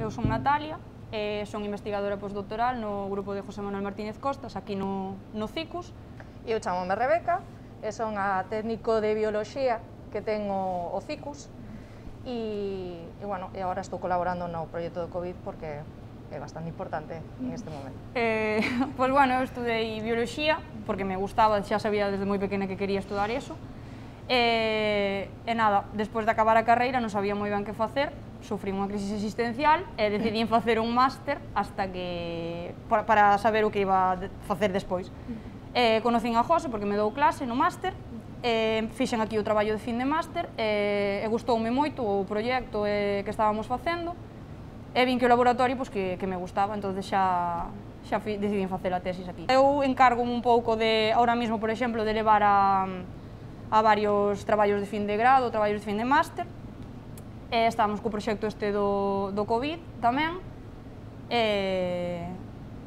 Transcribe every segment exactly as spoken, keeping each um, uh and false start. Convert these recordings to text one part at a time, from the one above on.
eu son Natalia, e son investigadora postdoctoral no grupo de José Manuel Martínez Costas, aquí no, no CICUS. Eu chamome Rebeca, e son a técnico de bioloxía que ten o, o CICUS, e, e, bueno, e agora estou colaborando no proxecto do COVID porque é bastante importante en este momento. Eh, pois, bueno, eu estudei bioloxía, porque me gustaba, xa sabía desde moi pequena que quería estudar iso, e, e nada, despois de acabar a carreira non sabía moi ben que facer, sufrí unha crisis existencial e decidí facer un máster hasta que para, para saber o que iba a facer despois. Eh, conocín a José porque me dou clase no máster, eh, fixen aquí o traballo de fin de máster e, e gustoume moito o proxecto eh, que estábamos facendo e vin que o laboratorio pues, que, que me gustaba, entón xa, xa fi, decidín facer a tesis aquí. Eu encargo un pouco de, ahora mismo, por exemplo, de levar a, a varios traballos de fin de grado, traballos de fin de máster. E estamos co proxecto este do, do COVID tamén, e,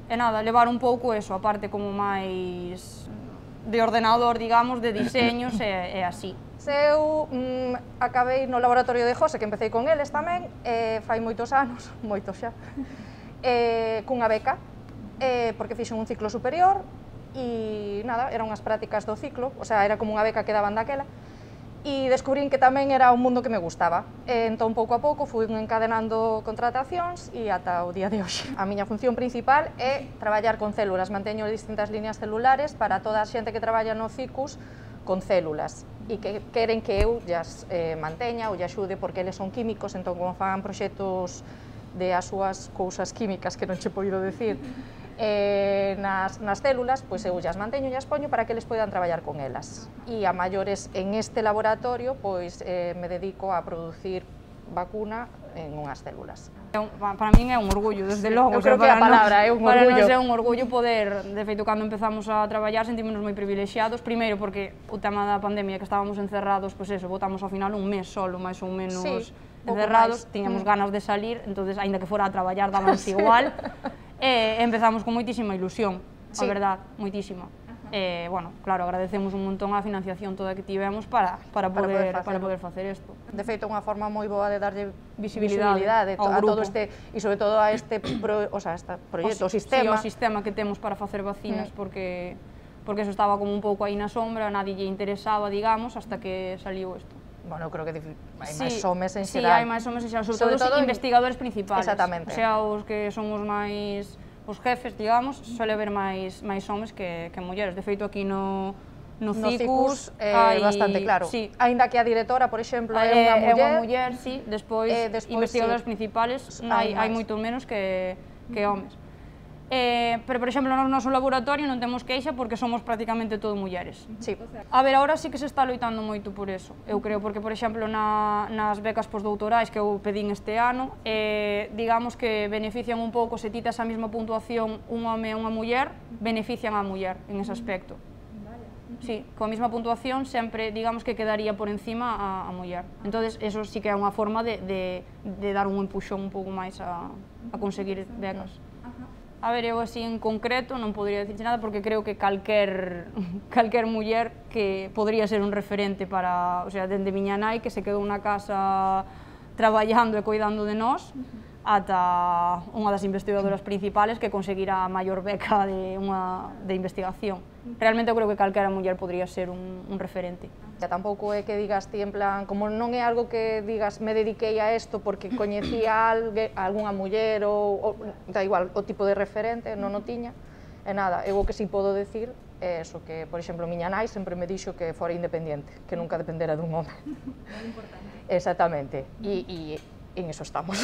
e nada, levar un pouco eso, a parte como máis de ordenador, digamos, de diseños e, e así. Se eu mm, acabei no laboratorio de José, que empecé con eles tamén, e fai moitos anos, moitos xa, e, cunha beca, e, porque fixen un ciclo superior, e nada, eran unhas prácticas do ciclo, o sea, era como unha beca que daban daquela, e descubrín que tamén era un mundo que me gustaba. E entón, pouco a pouco, fui encadenando contratacións e ata o día de hoxe. A miña función principal é traballar con células, manteño distintas líneas celulares para toda a xente que traballa no CICUS con células e que queren que eu llas eh, manteña ou lle axude porque eles son químicos, entón como fan proxectos de as súas cousas químicas que non che poido decir, Eh, nas, nas células, pois eu llas manteño e as poño para que eles poidan traballar con elas. E a maiores en este laboratorio, pois eh, me dedico a producir vacuna en unhas células. Para min é un orgullo, desde logo. Eu creo que a palabra é un orgullo. Para nos é un orgullo poder, de feito, cando empezamos a traballar, sentímonos moi privilexiados, primeiro porque o tema da pandemia, que estábamos encerrados, pois eso, botamos ao final un mes solo, máis ou menos encerrados, tiñamos ganas de salir, entonces, aínda que fora a traballar, dábamos igual. E empezamos con moitísima ilusión, a verdad, moitísima. E, bueno, claro, agradecemos un montón a financiación toda que tivemos para, para, poder, para poder facer isto. De feito, unha forma moi boa de darlle visibilidade, visibilidade ao a grupo. todo este, e sobre todo a este pro, o sea, este proxecto, o, o sistema. Sí, o sistema que temos para facer vacinas, mm. porque, porque eso estaba como un pouco aí na sombra, nadie lle interesaba, digamos, hasta que saliu isto. Bueno, eu creo que hai sí, máis homes en sí, xeral. Sí, hai máis homes en xeral, sobre, sobre todo, todo os investigadores principales. Exactamente. O sea, os que son os máis, os jefes, digamos, suele haber máis, máis homes que, que mulleres. De feito, aquí no, no, no CICUS é eh, bastante claro. Sí. Ainda que a directora, por exemplo, é unha muller. É unha muller, sí. Despois, eh, despois investigadores sí. principales, hai, hai moito menos que, que homes. Eh, pero, por exemplo, no noso laboratorio non temos queixa porque somos prácticamente todo mulleres. Sí. A ver, agora sí que se está loitando moito por eso, eu creo, porque, por exemplo, na, nas becas postdoutorais que eu pedín este ano, eh, digamos que benefician un pouco, se ti tes a mesma puntuación un home e unha muller, benefician a muller en ese aspecto. Sí, coa mesma puntuación sempre, digamos que quedaría por encima a, a muller. Entonces, eso sí que é unha forma de, de, de dar un empuxón un pouco máis a, a conseguir becas. A ver, eu así en concreto non podría dicirche nada porque creo que calquer, calquer muller que podría ser un referente para, o sea, dende miña nai que se quedou na casa traballando e cuidando de nós, ata unha das investigadoras principales que conseguirá a maior beca de, unha, de investigación. Realmente eu creo que calquera muller podría ser un, un referente. Que tampouco é que digas ti en plan, como non é algo que digas me dediquei a isto porque coñecía a, algue, a algunha muller ou, ou da igual, o tipo de referente, non o tiña, e nada, eu o que si podo decir é eso, que, por exemplo, miña nai sempre me dixo que fora independente, que nunca dependera dun home. Moi importante. Exactamente, e, e en eso estamos.